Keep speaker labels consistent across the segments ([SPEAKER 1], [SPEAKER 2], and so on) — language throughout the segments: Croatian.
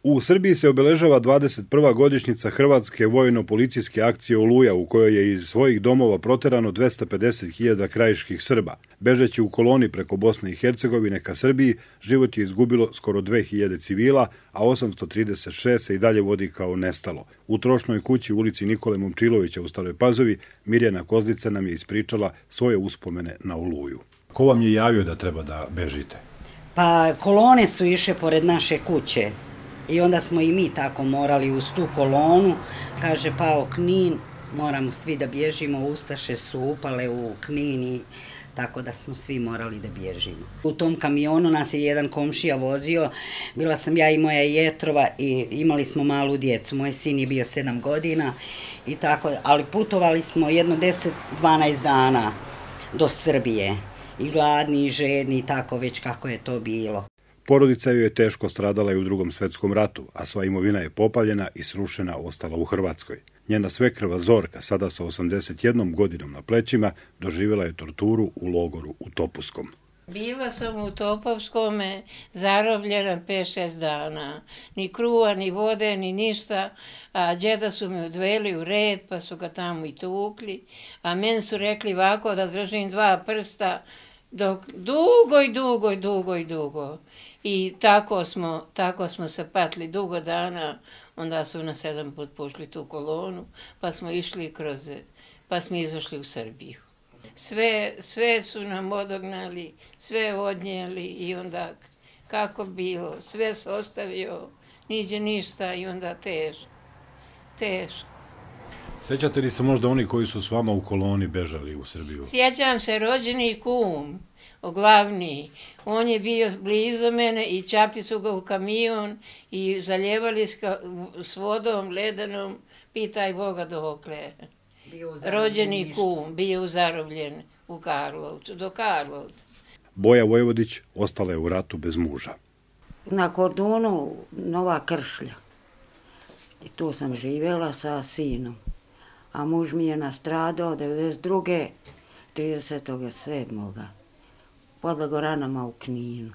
[SPEAKER 1] U Srbiji se obeležava 21. godišnjica Hrvatske vojno-policijske akcije Oluja, u kojoj je iz svojih domova proterano 250.000 krajiških Srba. Bežeći u koloni preko Bosne i Hercegovine ka Srbiji, život je izgubilo skoro 2000 civila, a 836 se i dalje vodi kao nestalo. U trošnoj kući u ulici Nikole Momčilovića u Staroj Pazovi, Mirjana Kozlica nam je ispričala svoje uspomene na Oluju. Ko vam je javio da treba da bežite?
[SPEAKER 2] Pa kolone su išle pored naše kuće. I onda smo i mi tako morali uz tu kolonu, kaže pao Knin, moramo svi da bježimo, ustaše su upale u Knin i tako da smo svi morali da bježimo. U tom kamionu nas je jedan komšija vozio, bila sam ja i moja jetrova i imali smo malu djecu, moj sin je bio 7 godina i tako, ali putovali smo jedno 10-12 dana do Srbije i gladni i žedni i tako već kako je to bilo.
[SPEAKER 1] Porodica joj je teško stradala i u Drugom svjetskom ratu, a sva imovina je popaljena i srušena ostala u Hrvatskoj. Njena svekrva Zorka, sada sa 81 godinom na plećima, doživjela je torturu u logoru u Topuskom.
[SPEAKER 3] Bila sam u Topovskome zarobljena 5-6 dana. Ni kruva, ni vode, ni ništa. A džeda su me odveli u red, pa su ga tamo i tukli. A meni su rekli ovako da držim 2 prsta, dok dugo. I tako smo se patili dugo dana, onda su nas 7 put pošli tu kolonu, pa smo išli pa smo izašli u Srbiju. Sve su nam odognali, sve odnijeli i onda kako bilo, sve se ostavio, niđe ništa i onda teško.
[SPEAKER 1] Sjećate li se možda oni koji su s vama u koloni bežali u Srbiju?
[SPEAKER 3] Sjećam se rođeni kum, glavni. On je bio blizu mene i čapli su ga u kamion i zaljevali s vodom ledenom, pitaj Boga dokle. Rođeni kum, bio zarobljen u Karlovcu, do Karlovca.
[SPEAKER 1] Boja Vojvodić ostala je u ratu bez muža.
[SPEAKER 4] Na Kordunu Nova Kršlja. I tu sam živjela sa sinom. A muž mi je nastradao 92. 37. pod Lagoranama u Kninu.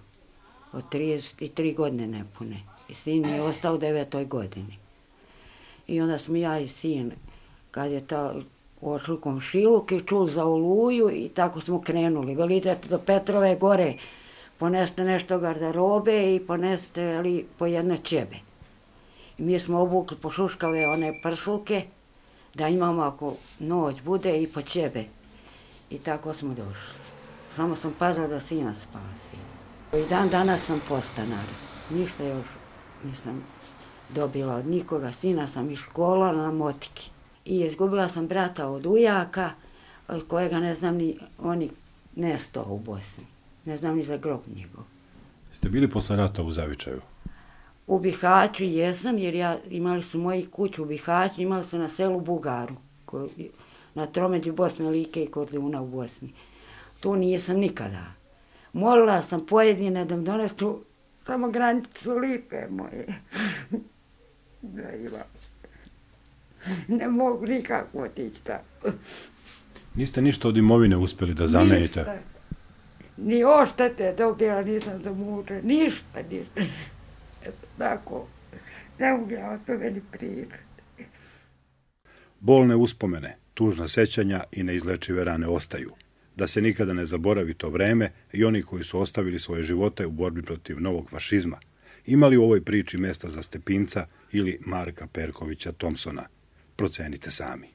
[SPEAKER 4] Od 33 godine nepune. I sin mi je ostao u 9. godini. I onda smo ja i sin, kad je ošli u komšiluk i čuli za Oluju i tako smo krenuli. Veli idete do Petrove gore, poneste nešto garderobe i poneste po jedne čebe. I mi smo obukli, pošuškali one prslke, da imamo ako noć bude i po čebe. I tako smo došli. Samo sam pazila da sina spasim. I dan danas sam podstanar. Ništa još nisam dobila od nikoga. Sina sam iz škola na motiki. I izgubila sam brata od ujaka, od kojega ne znam ni, on je nestao u Bosni. Ne znam ni za grob njegov.
[SPEAKER 1] Ste bili posle rata u Zavičaju?
[SPEAKER 4] U Bihaću jesam, jer imali su moji kuću u Bihaću, imali su na selu Bugaru, na tromeđu Bosne, Like i Korduna u Bosni. Tu nisam nikada. Molila sam pojedine da mi donesu samo granicu Lipe moje. Da ima. Ne mogu nikako otići tamo.
[SPEAKER 1] Niste ništa od imovine uspjeli da zamenite?
[SPEAKER 4] Ništa. Ni oštete dobila nisam za muže. Ništa. Eto tako. Ne mogu ja o tome ni pričati.
[SPEAKER 1] Bolne uspomene, tužna sećanja i neizlečive rane ostaju. Da se nikada ne zaboravi to vreme i oni koji su ostavili svoje živote u borbi protiv novog fašizma. Ima li u ovoj priči mesta za Stepinca ili Marka Perkovića Thompsona? Procenite sami.